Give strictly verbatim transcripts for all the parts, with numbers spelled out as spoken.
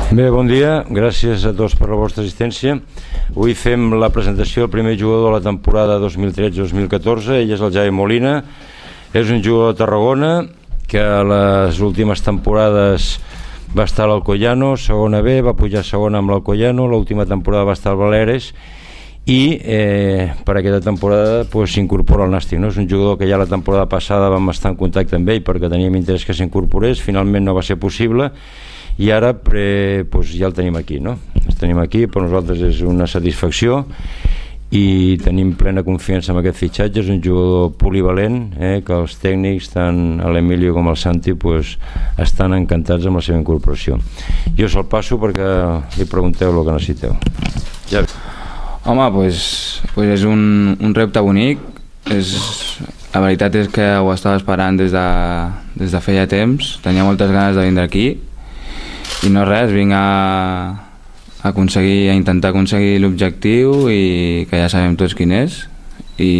Bé, bon dia, gràcies a tots per la vostra assistència. Avui fem la presentació del primer jugador de la temporada dos mil tretze dos mil catorze, ell és el Javi Molina, és un jugador de Tarragona que a les últimes temporades va estar a l'Alcoyano, segona B, va pujar segona amb l'Alcoyano, l'última temporada va estar al Baleares i eh, per aquesta temporada s'incorpora pues, al Nàstic. No? És un jugador que ja la temporada passada vam estar en contacte amb ell perquè teníem interès que s'incorporés, finalment no va ser possible i ara pre, pues, ja el tenim aquí, no? El tenim aquí, per nosaltres és una satisfacció i tenim plena confiança en aquest fitxatge. És un jugador polivalent, eh, que els tècnics, tant l'Emilio com el Santi, pues, estan encantats amb la seva incorporació. Jo se'l passo perquè li pregunteu el que necessiteu. Ja. Home, pues, pues és un, un repte bonic. És, la veritat és que ho estava esperant des de, des de feia temps. Tenia moltes ganes de vindre aquí i no res, vinc a, a, aconseguir, a intentar aconseguir l'objectiu i que ja sabem tots quin és i,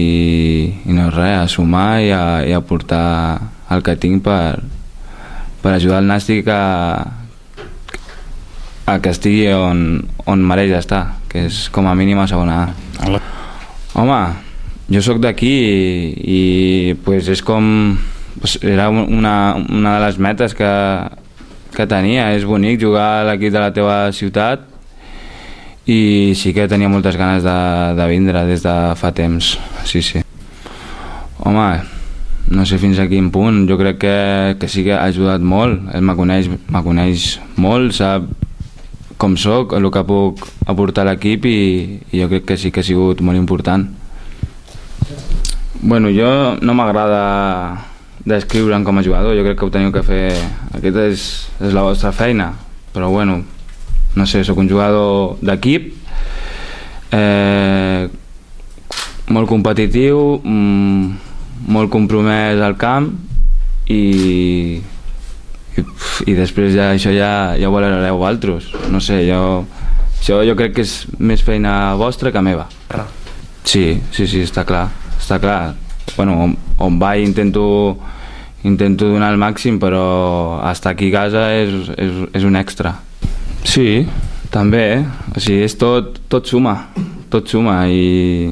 i no res, a sumar i a, i a portar el que tinc per, per ajudar el Nàstic a, a que estigui on, on mereix estar, que és com a mínim a segona A. Home, jo sóc d'aquí i, i pues és com, pues era una, una de les metes que que tenia. És bonic jugar a l'equip de la teva ciutat i sí que tenia moltes ganes de, de vindre des de fa temps, sí, sí. Home, no sé fins a quin punt, jo crec que, que sí que ha ajudat molt, ell me coneix, me coneix molt, sap com soc, el que puc aportar a l'equip i, i jo crec que sí que ha sigut molt important. Bueno, jo no m'agrada descriure'm com a jugador, jo crec que ho teniu que fer, aquesta és, és la vostra feina, però bueno, no sé, sóc un jugador d'equip, eh, molt competitiu, mm, molt compromès al camp i, i, i després ja, això ja, ja ho valorareu vosaltres, no sé, jo, això jo crec que és més feina vostra que meva. Sí, sí, sí, està clar, està clar. Bueno, on, on vaig intento intento donar el màxim, però estar aquí a casa és, és, és un extra. Sí, també, eh? O sigui, és tot, tot suma, tot suma i,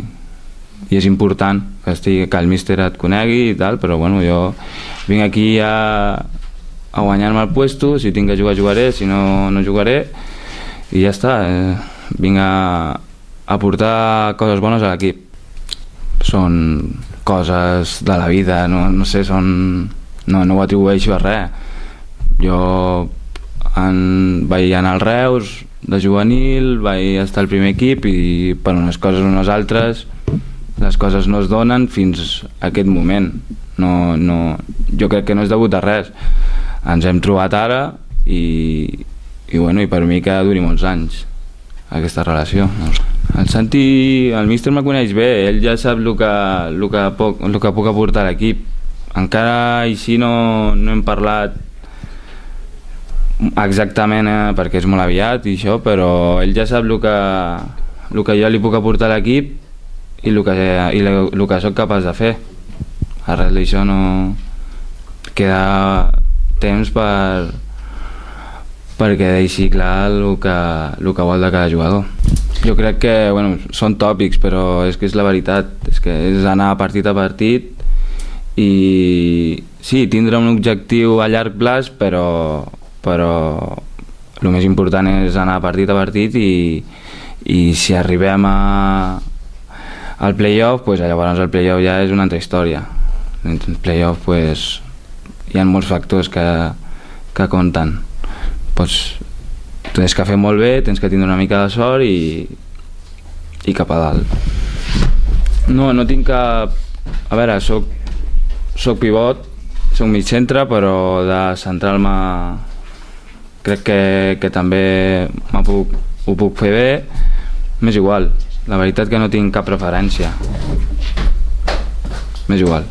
i és important que, estigui, que el míster et conegui i tal, però bueno, jo vinc aquí a, a guanyar-me el puesto, si tinc que jugar jugaré, si no, no jugaré i ja està, eh? Vinc a, a portar coses bones a l'equip. Són coses de la vida, no, no sé, són... No, no ho atribueixo a res. Jo en, vaig anar al Reus de juvenil, vaig estar al primer equip i per unes coses o unes altres les coses no es donen fins a aquest moment. No, no, jo crec que no és degut a res. Ens hem trobat ara i, i, bueno, i per mi que duri molts anys aquesta relació. El Santi, el míster me coneix bé, ell ja sap el que, el que, poc, el que puc aportar a l'equip. Encara així no, no hem parlat exactament eh, perquè és molt aviat i això, però ell ja sap el que, el que jo li puc aportar a l'equip i el que, i el que soc capaç de fer. Arrel d'això no queda temps per perquè deixi clar el que, el que vol de cada jugador. Jo crec que, bueno, són tòpics, però és que és la veritat, és que és anar partit a partit i sí, tindre un objectiu a llarg plaç, però, però el més important és anar partit a partit i, i si arribem a, al play-off, pues, llavors el play-off ja és una altra història. El play-off pues, hi ha molts factors que, que compten. Pues, tens que fer molt bé, tens que tindre una mica de sort i, i cap a dalt. No, no tinc cap... A veure, soc soc pivot, soc mig centre, però de central-me crec que, que també puc, ho puc fer bé. M'és igual, la veritat que no tinc cap preferència. M'és igual.